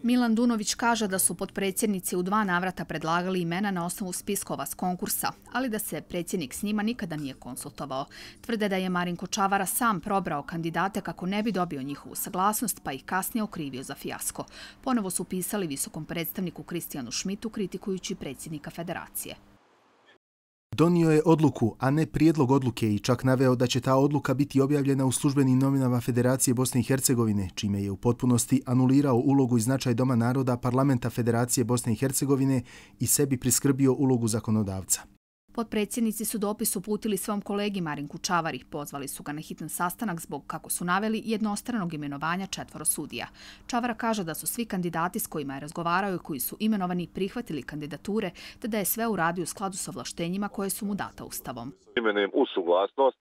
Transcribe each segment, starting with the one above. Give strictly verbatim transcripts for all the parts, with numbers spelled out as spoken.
Milan Dunović kaže da su potpredsjednici u dva navrata predlagali imena na osnovu spiskova s konkursa, ali da se predsjednik s njima nikada nije konsultovao. Tvrde da je Marinko Čavara sam probrao kandidate kako ne bi dobio njihovu saglasnost, pa ih kasnije okrivio za fijasko. Ponovo su pisali visokom predstavniku Kristijanu Šmitu kritikujući predsjednika federacije. Donio je odluku, a ne prijedlog odluke i čak naveo da će ta odluka biti objavljena u službenim novinama Federacije Bosne i Hercegovine, čime je u potpunosti anulirao ulogu i značaj Doma naroda Parlamenta Federacije Bosne i Hercegovine i sebi priskrbio ulogu zakonodavca. Potpredsjednici su dopis uputili svom kolegi Marinku Čavari. Pozvali su ga na hitan sastanak zbog, kako su naveli, jednostranog imenovanja četvoro sudija. Čavara kaže da su svi kandidati s kojima je razgovarao i koji su imenovani prihvatili kandidature, te da je sve uradio u skladu s ovlaštenjima koje su mu data Ustavom. Imenujem uz suglasnost.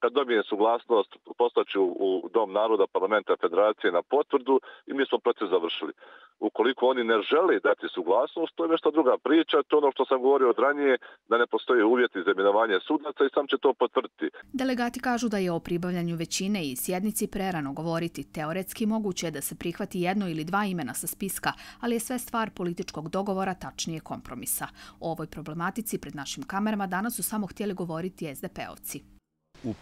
Kad dobijem suglasnost, poslaću u Dom naroda Parlamenta Federacije na potvrdu i mi smo proces završili. Ukoliko oni ne žele dati suglasnost, to je nešto druga priča, to je ono što sam govorio od ranije, da ne postoje uvjeti za imenovanje sudaca i sam će to potvrditi. Delegati kažu da je o pribavljanju većine i sjednici prerano govoriti. Teoretski moguće je da se prihvati jedno ili dva imena sa spiska, ali je sve stvar političkog dogovora, tačnije kompromisa. O ovoj problematici pred našim kamerama danas su samo htjeli govoriti es de peovci. U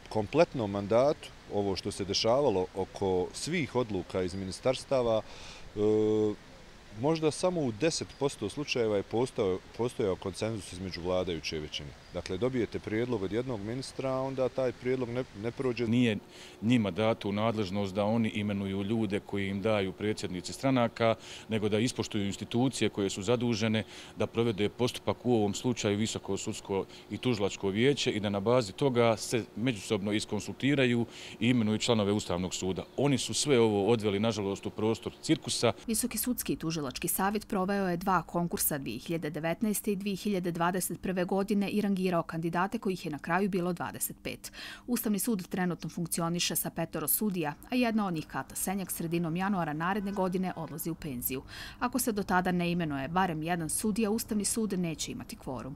kompletnom mandatu, ovo što se dešavalo oko svih odluka iz ministarstava, e, možda samo u deset posto slučajeva je postojao, postojao konsenzus između vladajuće većine. Dakle, dobijete prijedlog od jednog ministra, a onda taj prijedlog ne, ne prođe. Nije njima dato u nadležnost da oni imenuju ljude koji im daju predsjednici stranaka, nego da ispoštuju institucije koje su zadužene da provede postupak, u ovom slučaju Visoko sudsko i tužilačko vijeće, i da na bazi toga se međusobno iskonsultiraju i imenuju članove Ustavnog suda. Oni su sve ovo odveli, nažalost, u prostor cirkusa. Visoki sudski i tužilački savjet proveo je dva konkursa dvije hiljade devetnaeste. i dvije hiljade dvadeset prve. godine i rangirao kandidate kojih je na kraju bilo dvadeset pet. Ustavni sud trenutno funkcioniše sa petoro sudija, a jedna od njih, Kata Senjak, sredinom januara naredne godine odlazi u penziju. Ako se do tada ne imenuje barem jedan sudija, Ustavni sud neće imati kvorum.